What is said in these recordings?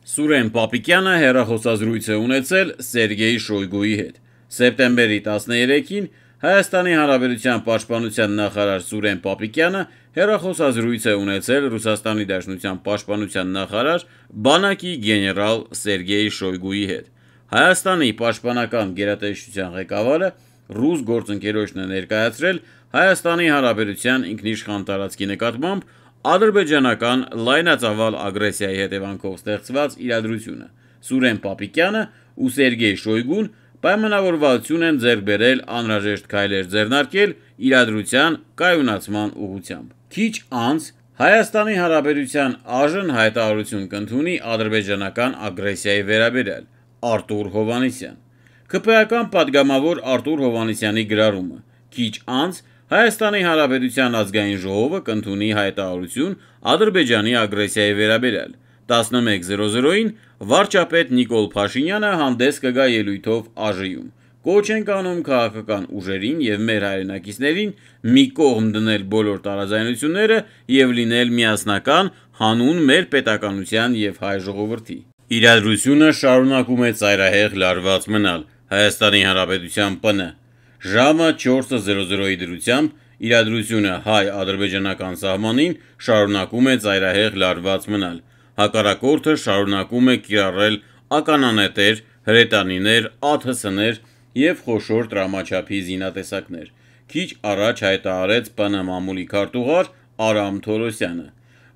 Սուրեն Պապիկյանը հեռախոսազրույց է ունեցել Սերգեյ Շոյգուի հետ։ Սեպտեմբերի 13-ին Հայաստանի Հանրապետության պաշտպանության նախարար Սուրեն Պապիկյանը հեռախոսազրույց է ունեցել Ռուսաստանի Դաշնության պաշտպանության նախարար բանակի գեներալ Սերգեյ Շոյգուի հետ։ Հայաստանի պաշտպանական գերատեսչության ղեկավարը ռուս գործընկերոջն է ներկայացրել Հայաստանի Հանրապետության ինքնիշխան տարածքի նկատմամբ ադրբեջանական լայնածավալ ագրեսիայի հետևանքով ստեղծված իրադրությունը։ Սուրեն Պապիկյանը ու Սերգեյ Շոյգուն պայմանավորվածություն են ձեռք բերել անհրաժեշտ քայլեր ձեռնարկել իրադրության կայունացման ուղղությամբ։ Քիչ անց Հայաստանի Հանրապետության ԱԺ-ն հայտարարություն կընդունի ադրբեջանական ագրեսիայի վերաբերյալ։ Արտուր Հովհաննիսյան ԿՊ-ական պատգամավոր Արտուր Հովհաննիսյանի գրառումը։ Քիչ անց Հայաստանի Հանրապետության ազգային ժողովը կընդունի հայտարարություն Ադրբեջանի ագրեսիայի վերաբերյալ։ 11:00-ին վարչապետ Նիկոլ Փաշինյանը հանդես կգա ելույթով ԱԺ-ում։ Կոչ ենք անում քաղաքական ուժերին և մեր հայրենակիցներին մի կողմ դնել բոլոր տարաձայնությունները և լինել միասնական հանուն մեր պետականության և հայ ժողովրդի։ Իրադրությունը շարունակում է ծայրահեղ լարված մնալ։ Հայաստանի Հանրապետության ՊՆ ժամը 4:00-ի դրությամբ իրադրությունը հայ-ադրբեջանական սահմանին շարունակում է ծայրահեղ լարված մնալ։ Հակառակորդը շարունակում է կիրառել ականանետեր, հրետանիներ, ԱԹՍ-ներ և խոշոր տրամաչափի զինատեսակներ։ Քիչ առաջ հայտարարեց ՊՆ մամուլի քարտուղար Արամ Թորոսյանը։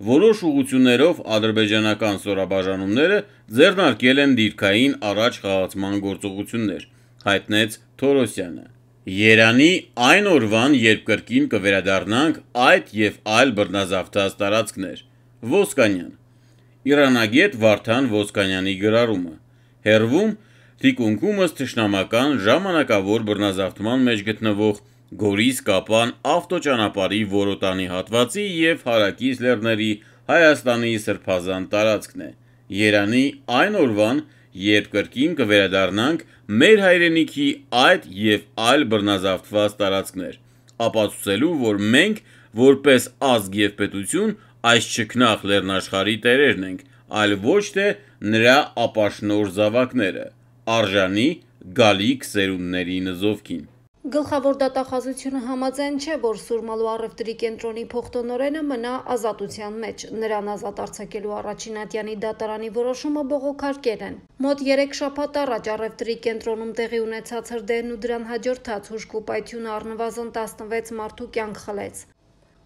Որոշ ուղղություններով ադրբեջանական ստորաբաժանումները ձեռնարկել են դիրքային առաջխաղացման գործողություններ, հայտնեց Թորոսյանը։ Երանի այն օրվան, երբ կրկին կվերադառնանք այդ և այլ բռնազավթած տարածքներ։ Ոսկանյան Իրանագետ Վարդան Ոսկանյանի գրառումը։ Հեռվում թիկունքումս թշնամական ժամանակավոր բռնազավթման մեջ գտնվող Գորիս-Կապան ավտոճանապարհի Որոտանի հատվածի և հարակից լեռների Հայաստանի սրբազան տարածքն է։ Երանի այն օրվան, երբ կրկին կվերադառնանք մեր հայրենիքի այդ և այլ բռնազավթված տարածքներ, ապացուցելու, որ մենք, որպես ազգ և պետություն, այս չքնաղ լեռնաշխարհի տերերն ենք, այլ ոչ թե նրա ապաշնորհ զավակները, արժանի գալիք սերունդների նզովքին։ Գլխավոր դատախազությունը համաձայն չէ, որ Սուրմալու առևտրի կենտրոնի փոխտնօրենը մնա ազատության մեջ։ Նրան ազատ արձակելու առաջին ատյանի դատարանի որոշումը բողոքարկել են։ Մոտ 3 շաբաթ առաջ առևտրի կենտրոնում տեղի ունեցած հրդեհն ու դրան հաջորդած հուժկու պայթյունը առնվազն 16 մարդու կյանք խլեց։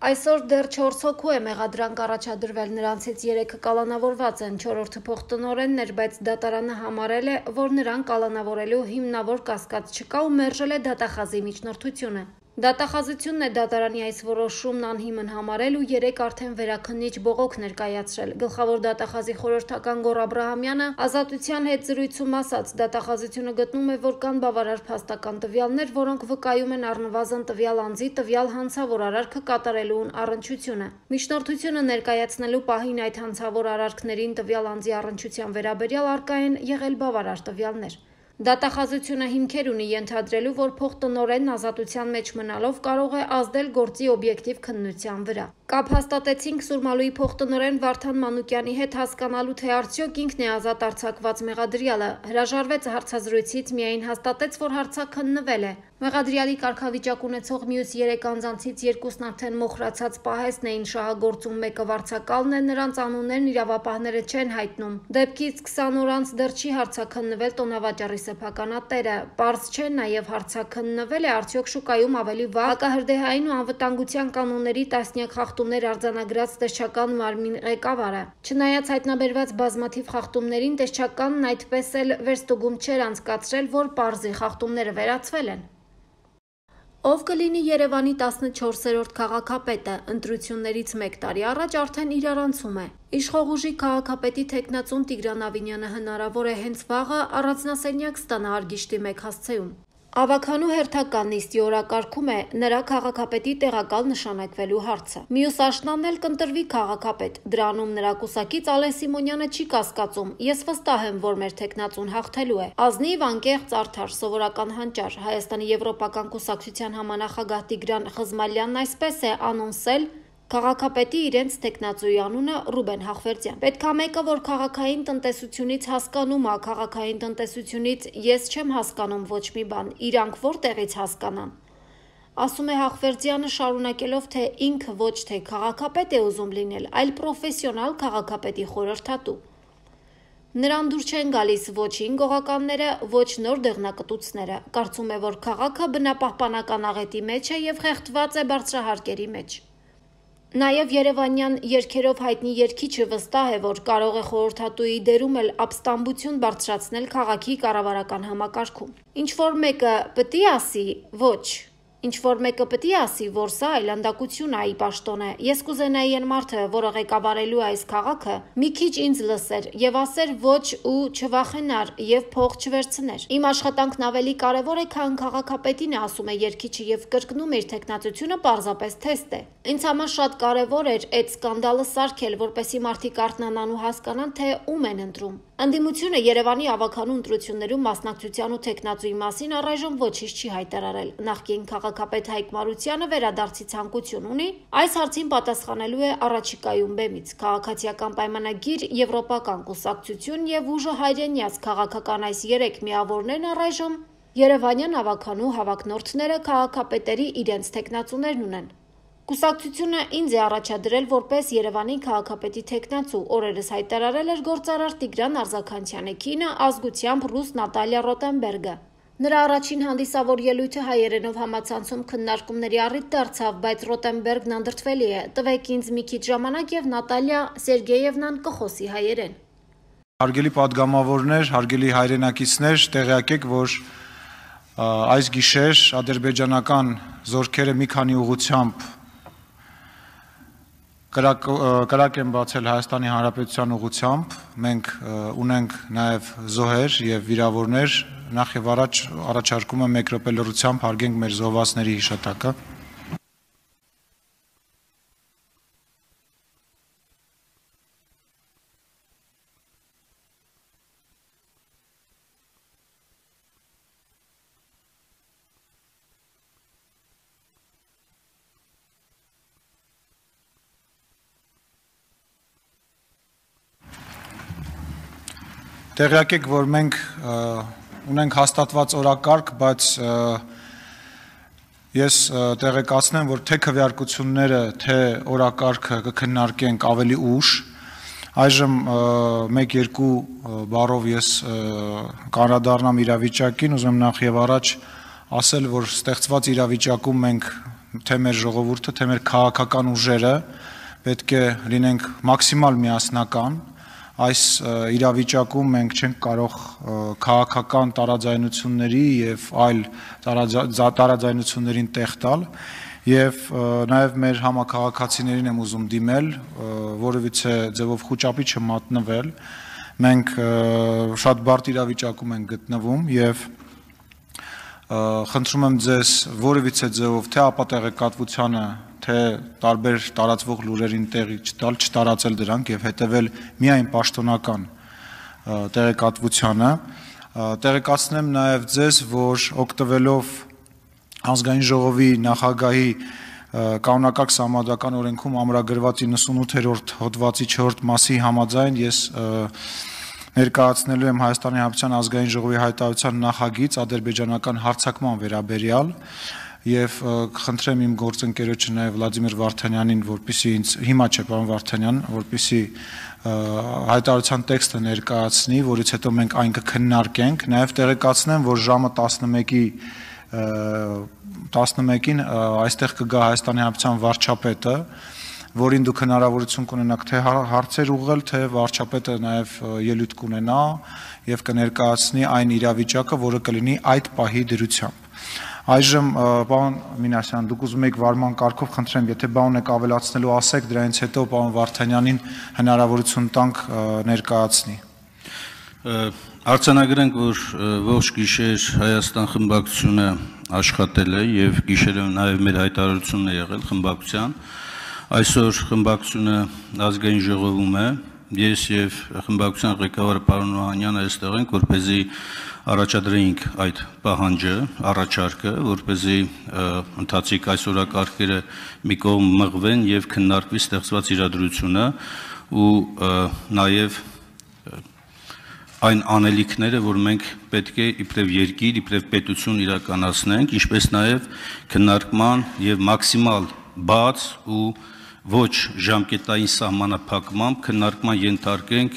Այսօր դեռ 4 հոգու է մեղադրանք առաջադրվել, նրանցից 3-ը կալանավորված են, 4-րդը փոխտնօրենն էր, բայց դատարանը համարել է, որ նրան կալանավորելու հիմնավոր կասկած չկա ու մերժել է դատախազի միջնորդությունը։ Դատախազությունն է դատարանի այս որոշումն անհիմն համարել ու 3 արդեն վերաքննիչ բողոք ներկայացրել։ Գլխավոր դատախազի խորհրդական Գոռ Աբրահամյանը ազատության հետ զրույցում ասաց. դատախազությունը գտնում է, որ կան բավարար փաստական տվյալներ, որոնք վկայում են առնվազն տվյալ անձի տվյալ հանցավոր արարքը կատարելուն առնչությունը։ Միջնորդությունը ներկայացնելու պահին այդ հանցավոր արարքներին տվյալ անձի առնչության վերաբերյալ առկա են եղել բավարար տվյալներ։ Դատախազությունը հիմքեր ունի ենթադրելու, որ փոխտնօրենն ազատության մեջ մնալով կարող է ազդել գործի օբյեկտիվ քննության վրա։ Կապ հաստատեցինք Սուրմալուի փոխտնօրեն Վարդան Մանուկյանի հետ հասկանալու, թե արդյոք ինքն է ազատ արձակված մեղադրյալը։ Հրաժարվեց հարցազրույցից, միայն հաստատեց, որ հարցաքննվել է։ Մեղադրյալի կարգավիճակ ունեցող մյուս 3 անձանցից 2-ն արդեն մոխրացած պահեսն էին շահագործում, մեկը վարձակալն է, նրանց անուններն իրավապահները չեն հայտնում։ Դեպքից 20 օր անց դեռ չի հարցաքննվել տոնավաճառի սեփականատերը։ Պարզ չէ նաև հարցաքննվել է արդյոք շուկայում ավելի վաղ հակահրդեհային ու անվտանգության կանոնների տասնյակ խախտումներ արձանագրած տեսչական մարմին ղեկավարը։ Չնայած հայտնաբերված բազմաթիվ խախտումներին, տեսչականն այդպես էլ վերստուգում չէր անցկացրել, որ պարզի խախտումները վերացվել են։ Ով կլինի Երևանի 14-րդ քաղաքապետը, ընտրություններից 1 տարի առաջ արդեն իրարանցում է։ Իշխող ուժի քաղաքապետի թեկնածուն Տիգրան Ավինյանը հնարավոր է հենց վաղը առանձնասենյակ ստանա Արգիշտի մեկ հասցեում։ Ավագանու հերթական նիստի օրակարգում է նրա քաղաքապետի տեղակալ նշանակվելու հարցը։ Մյուս աշնանն էլ կընտրվի քաղաքապետ։ Դրանում նրա կուսակից Ալեն Սիմոնյանը չի կասկածում։ Ես վստահ եմ, որ մեր թեկնածուն հաղթելու է։ Ազնիվ, անկեղծ, արդար, սովորական հանճար։ Հայաստանի եվրոպական կուսակցության համանախագահ Տիգրան Խզմալյանն այսպես է անոնսել Քաղաքապետի իրենց տեխնացուի անունը Ռուբեն Հախվերդյան։ Պետք է մեկը, որ քաղաքային տնտեսությունից հասկանում է, քաղաքային տնտեսությունից ես չեմ հասկանում ոչ մի բան, իրանք որտեղից հասկանան։ Ասում է Հախվերդյանը, շարունակելով, թե ինքը ոչ թե քաղաքապետ է ուզում լինել, այլ պրոֆեսիոնալ քաղաքապետի խորհրդատու։ Նրան դուր չեն գալիս ոչ հինգողականները, ոչ նոր դեղնակտուցները, կարծում է, որ քաղաքը բնապահպանական աղետի մեջ է և խեղդված է բարձրահարկերի մեջ։ Նաև երևանյան երգերով հայտնի երգիչը վստահ է, որ կարող է խորհրդատուի դերում էլ ապստամբություն բարձրացնել քաղաքի կառավարական համակարգում։ Ինչ-որ մեկը պտի ասի, ոչ։ Ինչ-որ մեկը պտի ասի, որ սա այլանդակություն է, ի պաշտոն է։ Ես կուզենայի այն մարդը, որը ղեկավարելու է այս քաղաքը, մի քիչ ինձ լսեր եւ ասեր ոչ ու չվախենար եւ փող չվերցներ։ Իմ աշխատանքն ավելի կարեւոր է, քան քաղաքապետին, ասում է երգիչը եւ կրկնում իր տեխնացությունը պարզապես թեստ է։ Ինձ համար շատ կարեւոր էր այդ սկանդալը սարքել, որպեսզի մարդիկ արթնանան ու հասկանան, թե ում են ընտրում։ Ընդդիմությունը Երևանի ավագանու ընտրություններում մասնակցության ու տեխնացուի մասին առայժմ ոչինչ չի հայտարարել։ Նախկին քաղաքապետ Հայկ Մարությանը վերադարձի ցանկություն ունի, այս հարցին պատասխանելու է առաջիկայում բեմից։ Քաղաքացիական պայմանագիր, եվրոպական կուսակցություն եւ ուժը հայրենյաց քաղաքական այս 3 միավորներն առայժմ Երևանյան ավագանու հավակնորդները քաղաքապետերի իրենց տեխնացուներն ունեն։ Կուսակցությունը ինձ է առաջադրել որպես Երևանի քաղաքապետի տեխնացու, օրերս հայտարարել էր գործարար Տիգրան Արզաքանցյանի կինը, ազգությամբ ռուս Նատալիա Ռոտենբերգը։ Նրա առաջին հանդիսավոր ելույթը հայերենով համացանցում քննարկումների առիթ դարձավ, բայց Ռոտենբերգն անդրդվելի է։ Տվեք ինձ մի քիչ ժամանակ եւ Նատալիա Սերգեևնան կխոսի հայերեն։ Հարգելի պատգամավորներ, հարգելի հայրենակիցներ, տեղյակ եք, որ այս գիշեր ադրբեջանական զորքերը մի քանի ուղղությամբ կրակ են բացել Հայաստանի Հանրապետության ուղղությամբ, մենք ունենք նաև զոհեր եւ վիրավորներ, նախ եւ առաջ առաջարկում եմ 1 րոպե լռությամբ հարգենք մեր զոհվածների հիշատակը։ Տեղյակ եք, որ մենք ունենք հաստատված օրակարգ, բայց ես տեղեկացնեմ, որ թե քվեարկությունները, թե օրակարգը կքննարկենք ավելի ուշ։ Այժմ 1-2 բառով ես կանդրադառնամ իրավիճակին, ուզում նախ եւ առաջ ասել, որ ստեղծված իրավիճակում մենք թե մեր ժողովուրդը, թե մեր քաղաքական ուժերը պետք է լինենք մաքսիմալ միասնական։ Այս իրավիճակում մենք չենք կարող քաղաքական տարաձայնությունների եւ այլ տարաձայնություններին տեղ տալ եւ նաեւ մեր համակարգացիներին եմ ուզում դիմել, որովհետեւ ձևով խոճապի չմատնվել։ Մենք շատ բարդ իրավիճակում ենք գտնվում եւ խնդրում եմ ձեզ որևիցե ձևով թե ապատեղեկատվությանը թե տարբեր տարածվող լուրերին տեղի չտալ, չտարածել դրանք եւ հետեւել միայն պաշտոնական տեղեկատվությանը։ Տեղեկացնեմ նաեւ ձեզ, որ օգտվելով ազգային ժողովի նախագահի կանոնակարգ սահմանադրական օրենքում ամրագրված 98-րդ հոդվածի 4-րդ մասի համաձայն ես ներկայացնելու եմ Հայաստանի Հանրապետության ազգային ժողովի հայտարարության նախագիծ ադրբեջանական հարձակման վերաբերյալ եւ խնդրեմ իմ գործընկերոջը նաեւ Վլադիմիր Վարդանյանին, որպեսզի ինձ հիմա չէ, պարոն Վարդանյան, որպեսզի հայտարարության տեքստը ներկայացնի, որից հետո մենք այն կքննարկենք, նաեւ տեղեկացնեմ, որ ժամը 11-ին այստեղ կգա Հայաստանի Հանրապետության վարչապետը, որին դուք հնարավորություն կունենաք թե հարցեր ուղղել, թե վարչապետը նաեւ ելույթ կունենա եւ կներկայացնի այն իրավիճակը, որը կլինի այդ պահի դրությամբ։ Այժմ պարոն Մինասյան, դուք ուզում եք վարման կարգով խնդրեմ, եթե բան եք ավելացնելու ասեք, դրանից հետո պարոն Վարդանյանին հնարավորություն տանք ներկայացնի։ Արձանագրենք, որ ողջ գիշեր Հայաստան խմբակցությունը աշխատել է եւ գիշերը նաեւ մեր հայտարարությունն է եղել խմբակցության։ Այսօր խմբակցությունը ազգային ժողովում է, ես եւ խմբակցության ղեկավարը պարոն Օհանյանը այստեղ ենք, որպեսզի առաջադրեինք այդ պահանջը, առաջարկը, որպեսզի ընթացիկ այս օրակարգերը մի կողմ մղվեն եւ քննարկվի ստեղծված իրադրությունը ու նաեւ այն անելիքները, որ մենք պետք է իբրև երկիր, իբրև պետություն իրականացնենք, ինչպես նաեւ քննարկման եւ մաքսիմալ բաց ու ոչ ժամկետային սահմանափակմամբ քննարկման ենթարկենք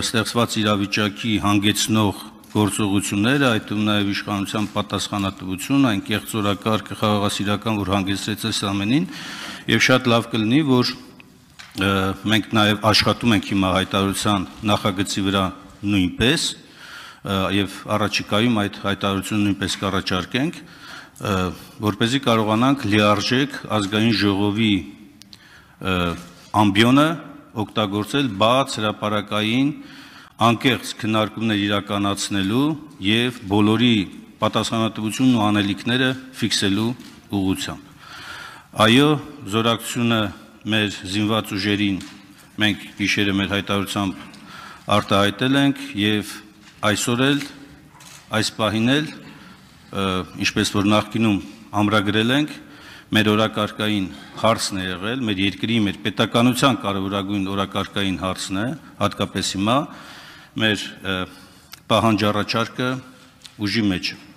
ստեղծված իրավիճակի հանգեցնող գործողությունները, այդ թվում նաեւ իշխանության պատասխանատվություն, այն կեղծորակարգը խաղաղասիրական, որ հանգեցրեց այս ամենին, եւ շատ լավ կլինի, որ մենք նաեւ աշխատում ենք հիմա հայտարարության նախագծի վրա նույնպես եւ առաջիկայում այդ հայտարարությունը նույնպես կառաջարկենք, որպեսզի կարողանանք լիարժեք ազգային ժողովի ամբիոնը օգտագործել բաց հրապարակային անկեղծ քննարկումներ իրականացնելու եւ բոլորի պատասխանատվությունն ու անելիքները ֆիքսելու ուղղությամբ։ Այո, զորակցությունը մեր զինված ուժերին մենք գիշերը մեր հայտարարությամբ արտահայտել ենք եւ այսօր էլ այս պահին էլ ինչպես որ նախկինում ամրագրել ենք մեր օրակարգային հարցն է եղել, մեր երկրի, մեր պետականության կարևորագույն օրակարգային հարցն է, հատկապես հիմա մեր պահանջ առաջարկը ուժի մեջ է։